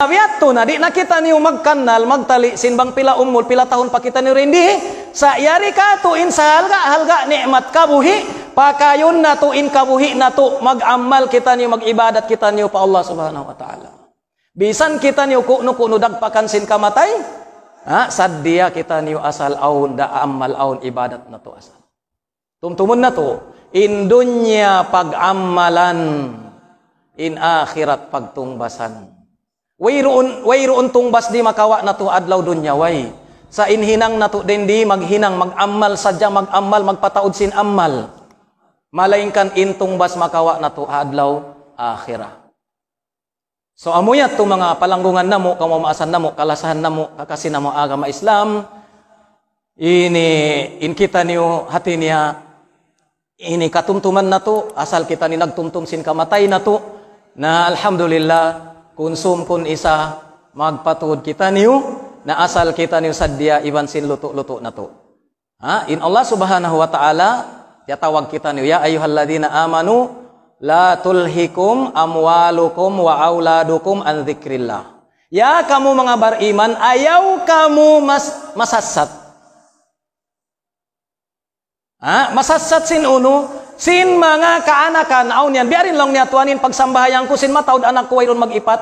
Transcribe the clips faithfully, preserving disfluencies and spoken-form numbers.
Biya' ha yan, di' na kitaniyu magkannal, magtali', sin bang pila umul, pila tahun pa kitaniyu dindi. Sa' yari katu' in sahalga'-halga' ni'mat kabuhi', pakayun natu' in kabuhi' natu', mag-amal kitaniyu, mag-ibadat kitaniyu pa Allah Subhanahu wa Ta'ala. Bisan kitaniyu kunu-kunu dagpakan sin kamatay, ha, sadja kitaniyu asal awn da amal awn ibadat natu' asal. Tumtumun natu', in dunya pag-amalan, in akhirat pagtungbasan. Wayruun, wayruun tungbas di' makawa' natu' adlaw dunya, way. Sa' in hinang natu' dindi maghinang, mag-amal sadja, mag-amal, magpataud sin amal. Malaingkan in tungbas makawa' natu' adlaw akhirat. So, amu yadtu manga palanggungan namu', kamumaasan namu', kalasahan namu', kakasi namu' agama Islam. Ini, in kitaniyu hati niya, ini katumtuman natu', asal kitaniyu nagtumtum sin kamatay natu'. Na alhamdulillah, kunsum kun isa, magpatuud kitaniyu, na asal kitaniyu sadja iban sin lutu'-lutu' natu'. Ha? In Allah Subhanahu wa Ta'ala, tiyatawag kitaniyu, يا أيها الذين آمنوا لا تلهكم أموالكم وأولادكم عن ذكر الله. Ya kamu manga bariman, ayaw kamu mas-, masassat. Ha? Masassat sin unu, sin manga kaanakan, awn yan, biya' diin laung niya Tuhan in pagsambahayang ku, sin mataud anak ku, wayruun mag-ipat.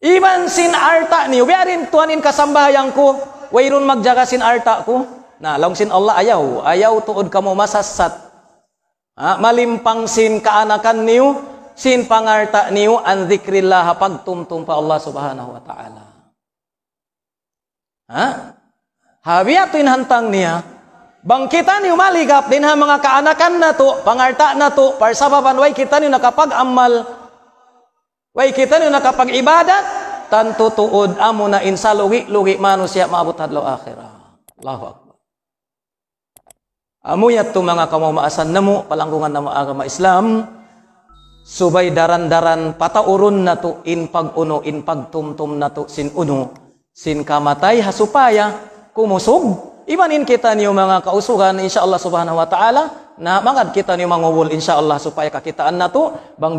Iban sin alta' niyu, biya' diin Tuhan in kasambahayang ku, wayruun magjaga sin alta' ku. Na, laung sin Allah, ayaw, ayaw tuud kamu masassat. Ha, malimpang sin kaanakan niyu, sin pangalta' niyu, عن ذكر الله, pagtumtum pa Allah Subhanahu wa Ta'ala. Ha? Ha, biya' ha yan in hantang niya. Bang kitaniyu maligap dayn ha manga kaanakan natu', pangalta' natu', parsababan way kitaniyu nakapag-amal, way kitaniyu nakapag-ibadat, tantu tuud amuna in salugi-lugi manusiya' maabut adlaw akhirat. Allahu Akbar. Amu yadtu manga kamumaasan namu', palanggungan namu' agama Islam, subay daran-daran pataurun natu' in pag-unu, in pagtumtum natu' sin unu, sin kamatay ha supaya kumusug. Iban in kitaniyu manga kausugan, insya Allah Subhanahu wa Ta'ala, na magad kitaniyu mangubul, insya Allah, supaya kakitaan natu', bang